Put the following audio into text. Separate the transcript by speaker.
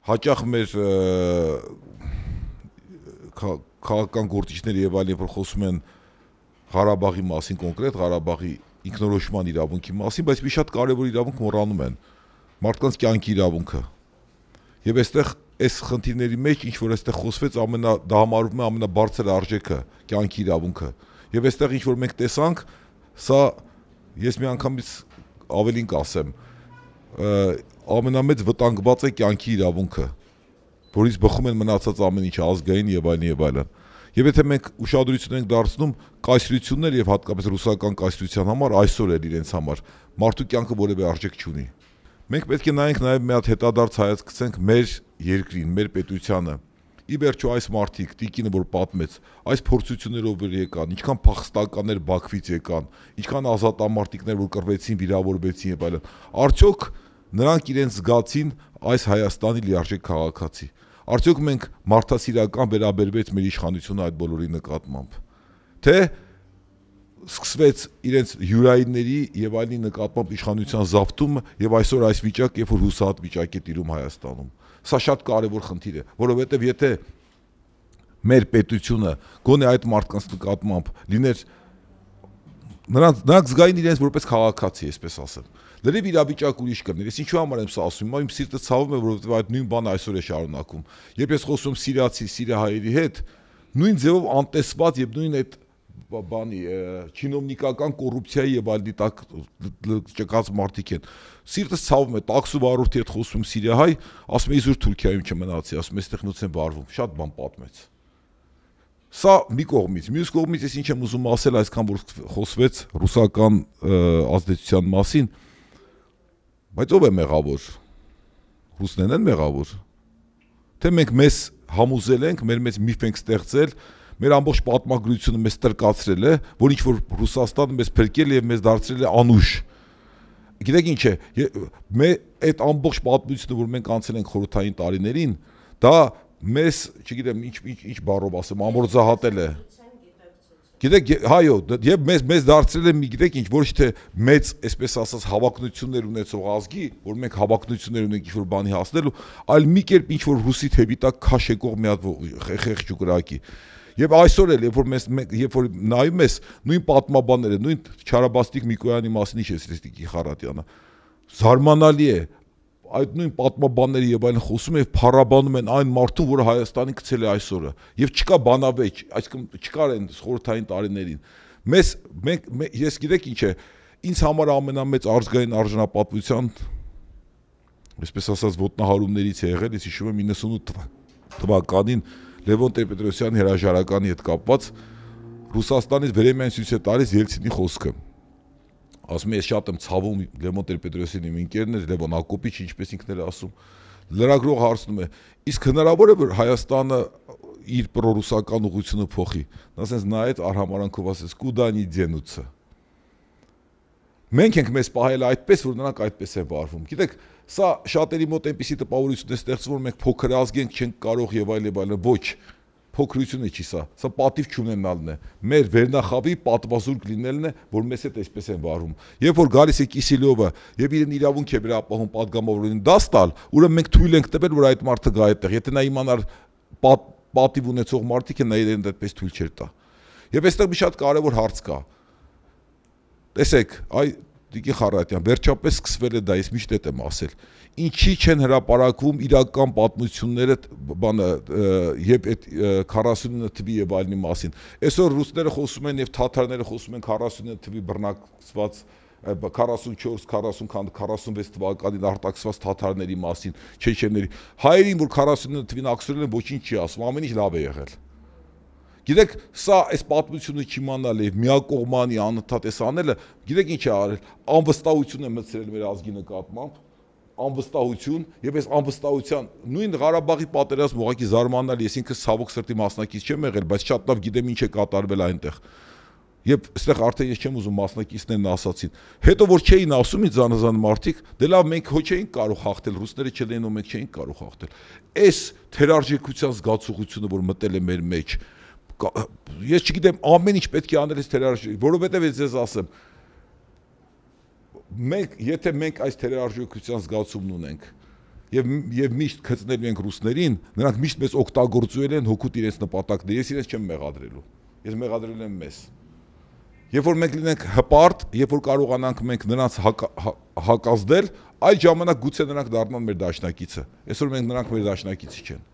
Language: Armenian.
Speaker 1: հաճախ մեր քաղաքական գործիչներ եւ այլն, որ խոսում են Ղարաբաղի մասին կոնկրետ, Ղարաբաղի ինքնորոշման իրավունքի մասին, բայց մի շատ կարևոր իրավունք մոռանում են, մարդկանց կյանքի իրավունքը։ Եվ այստեղ այս խնդիրների մեջ ինչ որ այստեղ խոսվեց դա համարվում է ամենաբարձր արժեքը, կյանքի իրավունքը։ Եվ այստեղ ինչ որ մենք տեսանք, սա ես մի անգամից ավելին կասեմ, ամենամեծ վտանգված է կյանքի իրավունքը, որից բխում են մնացած ամեն ինչ ազգային եւ այլն եւ այլն։ Եվ եթե մենք ուշադրություն ենք դարձնում կայսրություններ եւ հատկապես ռուսական կայսրության համար, այսօր էլ իրենց համար մարդու կյանքը որևէ արժեք չունի։ Մենք պետք է նայենք նաեւ մի հատ հետադարձ հայացք գցենք մեր երկրին, մեր պետությանը։ Ի վերջո այս մարդիկ, տիկինը որ պատմեց, այս փորձություններով որ եկան, ինչքան փախստականներ Բաքվից եկան, ինչքան ազատամարտիկներ որ կռվեցին, վիրավորվեցին եւ այլն, արդյոք նրանք իրենց զգացին այս Հայաստանի լիարժեք քաղաքացի։ Արդյոք մենք մարդասիրական վերաբերվեց մեր իշխանությունը այդ բոլորի նկատմամբ, թե սկսվեց իրենց յուրայինների եւ այլնի նկատմամբ իշխանության զավթումը եւ այսօր այս վիճակը, երբ որ հուսահատ վիճակ է տիրում Հայաստանում։ Սա շատ կարևոր խնդիր է, որովհետեւ եթե մեր պետությունը գոնե այդ մարդկանց նկատմամբ լիներ նրանք զգային իրենց որպես քաղաքացի, այսպես ասեմ, լրիվ իրավիճակ ուրիշ կներ։ Ես ինչու համար եմ սա ասում, իմ սիրտը ցավում է, որովհետեւ այդ նույն բանը այսօր է շարունակում։ Երբ ես խոսում սիրիացի, սիրիահայերի հետ, նույն ձևով անտեսված եւ նույն այդ բանի չինովնիկական կոռուպցիայի եւ այլնի տակ ճկած մարդիկ են։ Սիրտս ցավում է, տաքսու վարորդի հետ խոսում սիրիահայ, ասում է իզուր Թուրքիայում չմնացի, ասում է այստեղ նույնց են վարվում, շատ բան պատմեց։ Սա մի կողմից, մյուս կողմից ես ինչ եմ ուզում ասել, այսքան որ խոսվեց ռուսական ազդեցության մասին, բայց ով է մեղավոր։ Ռուսներն են մեղավոր։ Թե մենք մեզ համոզել ենք, մեր մեծ միֆ ենք ստեղծել, մեր ամբողջ պատմագրությունը մեզ տրկացրել է, որ ինչ որ Ռուսաստանը մեզ փրկել եւ մեզ դարձրել է անուշ։ Գիտեք ինչ է, այդ ամբողջ պատմությունը, որ մենք անցել ենք խորհրդային տարիներին, դա մեզ, չգիտեմ, ինչ բառով ասեմ, ամորձահատել է։ Գիտեք, հայո, եւ մեզ դարձրել է մի, գիտեք ինչ, ոչ թե մեծ, այսպես ասած, հավակնություններ ունեցող ազգի, որ մենք հավակնություններ ունենք ինչ-որ բանի հասնելու, այլ մի կերպ ինչ-որ ռուսի թևի տակ քաշ եկող մի հատ խեղճ ու կրակի։ Եվ այսօր էլ, երբ որ նայում ես նույն պատմաբանները, նույն Չարաբաստիկ Միկոյանի մասին ինչ է Սրեստիկի Խարատյանը, զարմանալի է, այդ նույն պատմաբանները եւ այլն խոսում են եւ փառաբանում են այն մարդուն, որը Հայաստանի գցել է այսօրը, եւ չկա բանավեճ, այսինքն չկար այն խորհրդային տարիներին։ Ես գիտեք ինչ է, ինձ համար ամենամեծ ազգային արժանապատվության, այսպես ասած, ոտնահարումներից է եղել, ես հիշում եմ 98 թվականին Լևոն Տեր-Պետրոսյանի հրաժարականի հետ կապված Ռուսաստանից Վերեմյան ցույց է տալիս Ելցինի խոսքը։ Ասում եմ, ես շատ եմ ցավում Լևոն Տեր-Պետրոսյանի իմ ընկերն էր, Լևոն Ակոպիչ, ինչպես ինքն էլ ասում։ Լրագրողը հարցնում է, իսկ հնարավոր է որ Հայաստանը իր պրոռուսական ուղղությունը փոխի։ Նա ասես նայեց արհամարանքով ասեց՝ «Կուդանի դենուցը»։ Մենք ենք մեզ պահել այդպես, որ նրանք այդպես են վարվում։ Գիտեք, սա շատերի մոտ այնպիսի տպավորություն է ստեղծվում, որ մենք փոքր ազգ ենք, չենք կարող եւ այլն, ոչ, փոքրությունը չի սա պատիվ չունենալն է, մեր վերնախավի պատվազուրկ լինելն է, որ մեզ հետ այսպես են վարվում։ Երբ որ գալիս է Կիսելյովը եւ իրեն իրավունք է վերապահում падգամավորին դաս տալ, ուրեմն մենք թույլ ենք տվել, որ այդ մարդը գա այդտեղ, եթե նա իմանար պատիվ ունեցող մարդիկ են, նա իրեն այդպես թույլ չէր տա։ Եվ այստեղ մի շատ կարեւոր հարց կա։ Տեսեք, Տիկին Խարատյան, վերջապես սկսվել է դա, ես միշտ եմ ասել, ինչի չեն հրապարակվում իրական պատմությունները եւ այդ 49 թվի եւ այլնի մասին։ Այսօր ռուսները խոսում են եւ թաթարները խոսում են 49 թվի բռնակցված 44, 40, 46 թվականին արտաքսված թաթարների մասին, չեչեների։ Հայերին, որ 49 թվին ակսորել են, ոչինչ չի ասում, ամեն ինչ լավ է եղել։ Գիտեք, սա այս պատմությունը չիմանալ եւ միակողմանի անընդհատ էս անելը, գիտեք ինչ է արել, անվստահություն է մտցրել մեր ազգի նկատմամբ, անվստահություն եւ այս անվստահության նույն Ղարաբաղի պատերազմը ուղղակի զարմանալի, ես ինքս ցավոք սրտի մասնակից չեմ եղել, բայց շատ լավ գիտեմ ինչ է կատարվել այնտեղ։ Եվ այստեղ արդեն ես չեմ ուզում մասնակիցներն ասացին։ Հետո որ չէին ասում ինձ զանազան մարդիկ, դե լավ մենք հո չէինք կարող հաղթել, ռուսները չլեին ու մենք չէինք կարող հաղթել։ Այս թերարժեքության զգացողությունը, որ մտել է մեր մեջ, ես չգիտեմ, ամեն ինչ պետք է անել այս թերարժեքության, որովհետև ես ձեզ ասեմ, եթե մենք այս թերարժեքության զգացումն ունենք, եւ միշտ գծնելու ենք ռուսներին, նրանք միշտ մեզ օգտագործել են հոգուտ իրենց նպատակներ։ Ես իրենց չեմ մեղադրելու։ Ես մեղադրել եմ մեզ։ Երբ որ մենք լինենք հպարտ, երբ որ կարողանանք մենք նրանց հակազդել, այդ ժամանակ գուցե նրանք դառնան մեր դաշնակիցը։ Այսօր մենք նրանք մեր դաշնակիցը չեն։